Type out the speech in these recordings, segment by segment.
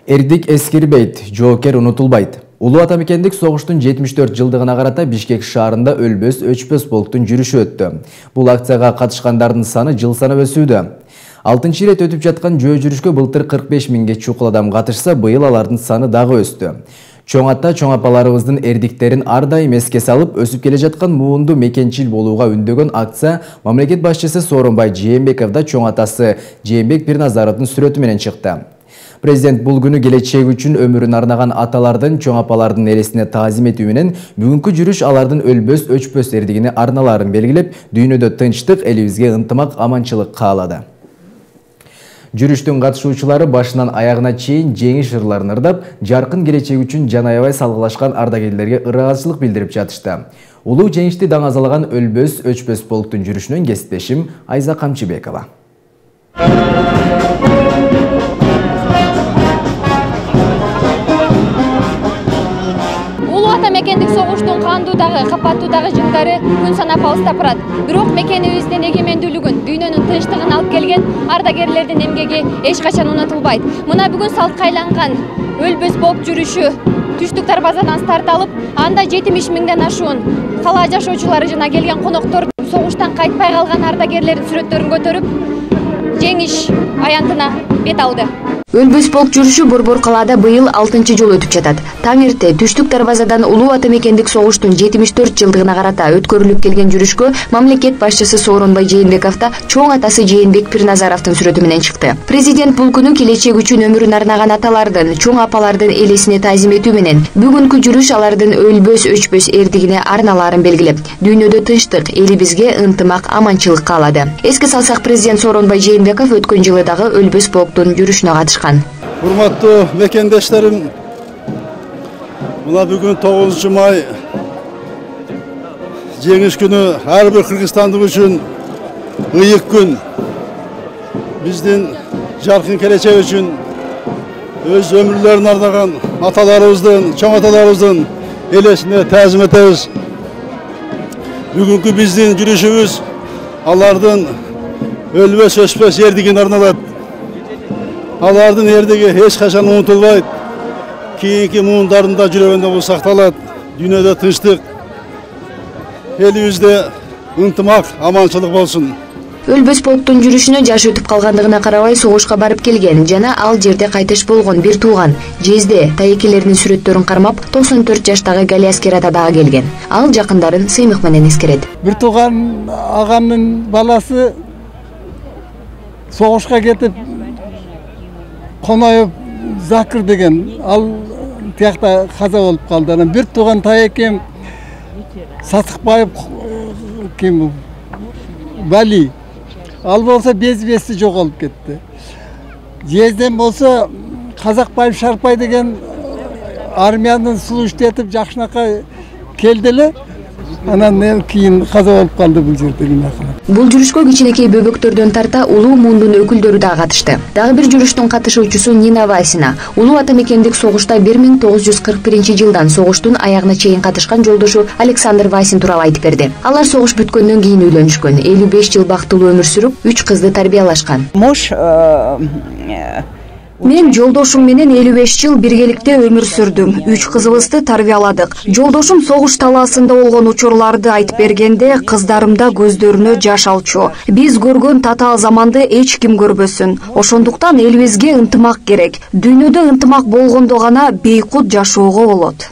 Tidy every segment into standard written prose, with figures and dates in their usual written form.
Эрдик эскирбейт, жоокер унутулбайт. Улуу атамекендик согуштун 74 жылдыгына карата Бишкек шаарында өлбөс өчпөс полктун жүрүшү өттү. Бул акцияга катышкандардын саны жыл санап өсүүдө. 6-чы ирет өтүп жаткан жөө жүрүшкө былтыр 45 миңге чукул адам катышса, быйыл алардын саны дагы өстү. Чоң ата, чоң апаларыбыздын эрдиктерин ар дайым эске салып, өсүп келе жаткан муунду мекенчил болууга үндөгөн акция мамлекет башчысы Сооронбай Жээнбеков да чоң атасы Жээнбек Пирназаровдун сүрөтү менен чыкты. Президент бул күнү келечеги үчүн өмүрүн арнаган аталардын, чоң апалардын элесине таазим этүү менен бүгүнкү жүрүш алардын өлбөс өчпөс эрдигине арналарын белгилеп, дүйнөдө тынчтык, элибизге ынтымак, аманчылык каалады. Жүрүштүн катышуучулары башынан аягына чейин жеңиш ырларын ырдап, жаркын келечек үчүн жан аябай салгылашкан ардагерлерге ыраазычылык билдирип жатышты. Улуу жеңишти даңазалаган өлбөс өчпөс полктун жүрүшүнөн кесиптешим Айза Камчыбекова. Мекендик согуштун кандуудагы, капаттуудагы жылдары күн санап алыстап барат. Бирок мекенибиздин эгемендүүлүгүн, дүйнөнүн тынчтыгын алып келген ардагерлердин эмгеги эч качан унутулбайт. Мына бүгүн салтка айланган өлбөс полк жүрүшү түштүк дарбазадан старт алып, анда 70 миңден ашуун кала жашоочулары жана келген коноктор согуштан кайтпай калган ардагерлердин сүрөттөрүн көтөрүп, жеңиш аянтына бет алды. Өлбөс полк жүрүшү Борбор калаада быйыл 6-чы жолу өтүп жатат. Таң эрте түштүк дарбазадан улуу атамекендик согуштун 74 жылдыгына карата өткөрүлүп келген жүрүшкө мамлекет башчысы Сооронбай Жээнбеков да чоң атасы Жээнбек Пирназаровдун сүрөтү менен чыкты. Президент бул күнү келечек үчүн өмүрүн арнаган аталардын, чоң апалардын элесине таазим этүү менен бүгүнкү жүрүш алардын өлбөс өчпөс эрдигине арналарын белгилеп, дүйнөдө тынчтык, элибизге ынтымак, аманчылык каалады. Эске салсак, президент Сооронбай Жээнбеков өткөн жылы дагы өлбөс полктун жүрүшүнө катышкан. Урматтуу мекендештерим, мына бүгүн 9 май жеңиш күнү ар бир кыргызстандык үчүн ыйык күн. Биздин жаркын келечек үчүн өз өмүрлөрүн арнаган аталарыбыздын, чоң аталарыбыздын элесине таазим этебиз. Бүгүнкү биздин жүрүшүбүз алардын өлбөс өчпөс эрдигине арналат. Алардын эрдиги эч качан унутулбайт. Кийинки муундарында жүрөгүндө бул сакталат. Дүйнөдө тынчтык, элибизде ынтымак, аманчылык болсун. Өлбөс полктун жүрүшүнө жаш өтүп калгандыгына карабай согушка барып келген жана ал жерде кайтыш болгон бир тууган Жезде тайекелердин сүрөттөрүн кармап 94 жаштагы Гали Аскер ата дагы келген. Ал жакындарын сыймык менен эскерет. Бир тууган агамдын баласы согушка кетип Коноев Закыр деген, ал тиякта каза болуп калды. Анан бир тууган тайекем Сатыкбаев ким Вали, ал болсо без-бести жоголуп кетти. Жезден болсо Казакбаев Шарпай деген армиянын службетип жакшынакай келди эле. Анан кийин каза болуп калды бул жерде. Бул жүрүшкө кичинекей бөбөктөрдөн тарта улуу муундун өкүлдөрү да катышты. Дагы бир жүрүштүн катышуучусу Нина Васина. Улуу атамекендик согушта 1941 жылдан согуштун аягына чейин катышкан жолдошу Александр Васин тууралуу айтып берди. Алар согуш бүткөндөн кийин үйлөнүшкөн, 55 жыл бактылуу өмүр сүрүп, 3 кызды тарбиялашкан. Мен жолдошум менен 55 жыл биргеликте өмүр сүрдүм. 3 кызыбызды тарбияладык. Жолдошум согуш талаасында болгон учурларды айтып бергенде, кыздарымда көздөрүнө жаш алчу. Биз көргөн татаал заманды эч ким көрбөсүн. Ошондуктан элибизге ынтымак керек. Дүйнөдө ынтымак болгондо гана бейкут жашоого болот.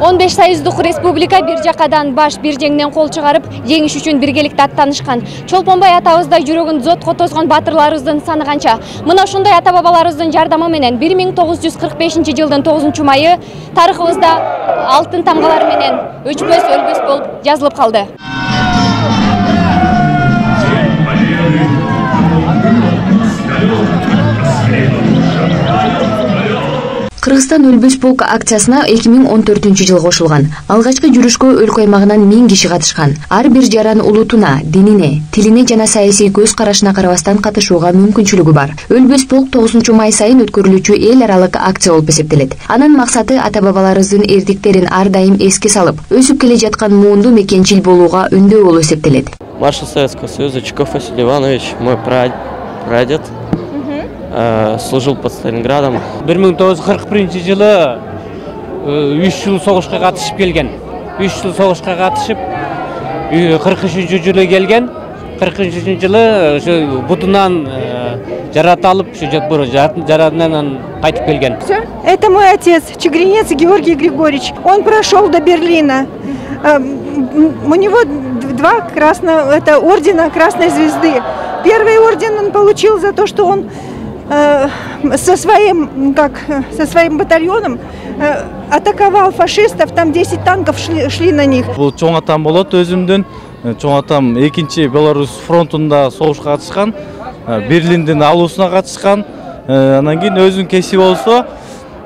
15 союздук республика бир жакадан баш, бир жеңден кол чыгарып, жеңиш үчүн биргеликте аттанышкан. Чолпонбай атабыздай жүрөгүн зотко тосгон батырларыбыздын саны канча. Мына ушундай ата-бабаларыбыздын жардамы менен 1945 жылдын 9 майы тарыхыбызда алтын тамгалар менен өчпөс өлбөс болуп жазылып калды. Кыргызстан өлбөс полк акциясына 2014-жылы кошулган. Алгачкы жүрүшкө өлкө аймагынан 1000 киши катышкан. Ар бир жаран улутуна, динине, тилине жана саясий көз карашына карабастан катышууга мүмкүнчүлүгү бар. Өлбөс полк 9-май сайын өткөрүлүүчү эл аралык акция болуп эсептелет. Анын максаты ата-бабаларыбыздын эрдиктерин ар дайым эске салып, өсүп келе жаткан муунду мекенчил болууга үндөө болуп эсептелет. Маршал Советского Союза Чуков Василий Иванович, мой прадед, служил под Сталинградом. 1941-жылы 3 жыл согушка катышып келген. 3 жыл согушка катышып 43-жылы келген. 43-жылы ошо бутунан жараталып, ошо жаратынан кайтып келген. Это мой отец, Чигринец Георгий Григорьевич. Он прошел до Берлина. У него 2 ордена Красной Звезды. Первый орден он получил за то, что он со своим батальоном атаковал фашистов, там 10 танков шли на них. Бул чоң атам болот өзүмдүн. Чоң атам 2-чи Беларусь фронтунда согушка катышкан, Берлиндин алуусуна катышкан. Анан кийин өзүнүн кесиби болсо,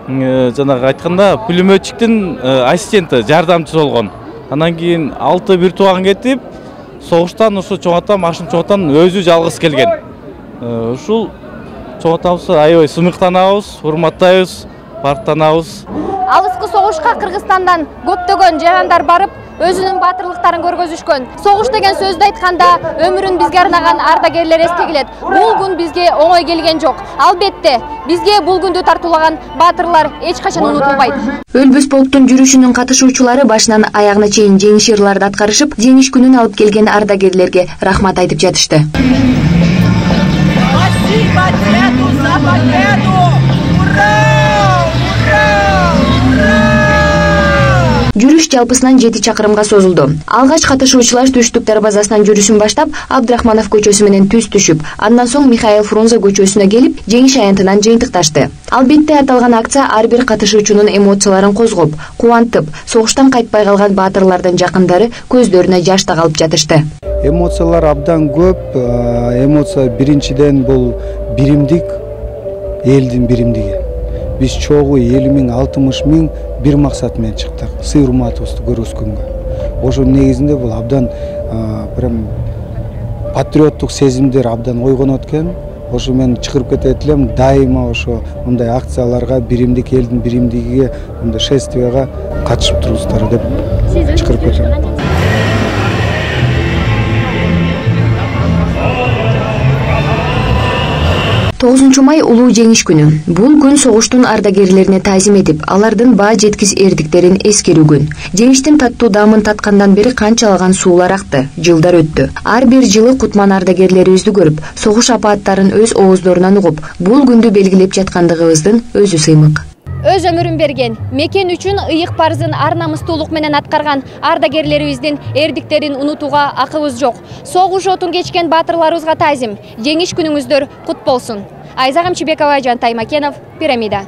жанагы айтканда пулеметчиктин ассистенти, жардамчысы болгон. Анан кийин 6 бир тууган кетип, согуштан ушу чоң атам, Ашым чоң атам өзү жалгыз келген. Ушул чоң атамызды аябай сыймыктанабыз, урматтайбыз, барктанабыз. Алыскы согушка Кыргызстандан көптөгөн жарандар барып, өзүнүн батырлыктарын көргөзүшкөн. Согуш деген сөздү айтканда өмүрүн бизге арнаган ардагерлер эске келет. Бул күн бизге оңой келген жок. Албетте, бизге бул күндү тартуулаган батырлар эч качан унутулбайт. Өлбөс полктун жүрүшүнүн катышуучулары башынан аягына чейин жеңиш ырларды аткарышып, жеңиш күнүн алып келген ардагерлерге рахмат айтып жатышты. Жүрүш жалпысынан 7 чакырымга созулду. Алгач катышуучулар Түштүк дарбазасынан жүрүшүн баштап, Абдрахманов көчөсү менен түз түшүп, андан соң Михаил Фрунзе көчөсүнө келип, жеңиш аянтынан жыйынтыкташты. Албетте аталган акция ар бир катышуучунун эмоцияларын козгоп, кубантып, согуштан кайтпай калган баатырлардын жакындары көздөрүнө жаш тагалып жатышты. Эмоциялар абдан көп. Эмоция биринчиден бул биримдик, элдин биримдиги. Биз чогуу 50.000-60.000 бир максат менен чыктык. Сый-урматыбызды көргөзгөнгө. Ошо негизинде бул абдан прям патриоттук сезимдер абдан ойгонот экен. Ошо мен чыгырып кетет элем, дайыма ошо мындай акцияларга, биримдик, элдин биримдигиге, мындай шествияга катышып туруңуздар деп чыгырып кетем. 9-май улуу жеңиш күнү. Бул күн согуштун ардагерлерине таазим этип, алардын баа жеткис эрдиктерин эскерүү күн. Жеңиштин таттуу даамын таткандан бери канчалаган суулар акты, жылдар өттү. Ар бир жылы кутман ардагерлерибизди көрүп, согуш апааттарын өз ооздорунан угуп, бул күндү белгилеп жаткандыгыбыздын өзү сыймык. Өз өмүрүн берген, мекен үчүн ыйык парызын ар намыстуулук менен аткарган ардагерлерибиздин эрдиктерин унутууга акыбыз жок. Согуш отун кечкен баатырларыбызга таазим. Жеңиш күнүңүздөр кут болсун. Айза Камчыбекова, Жантай Макенов, Пирамида.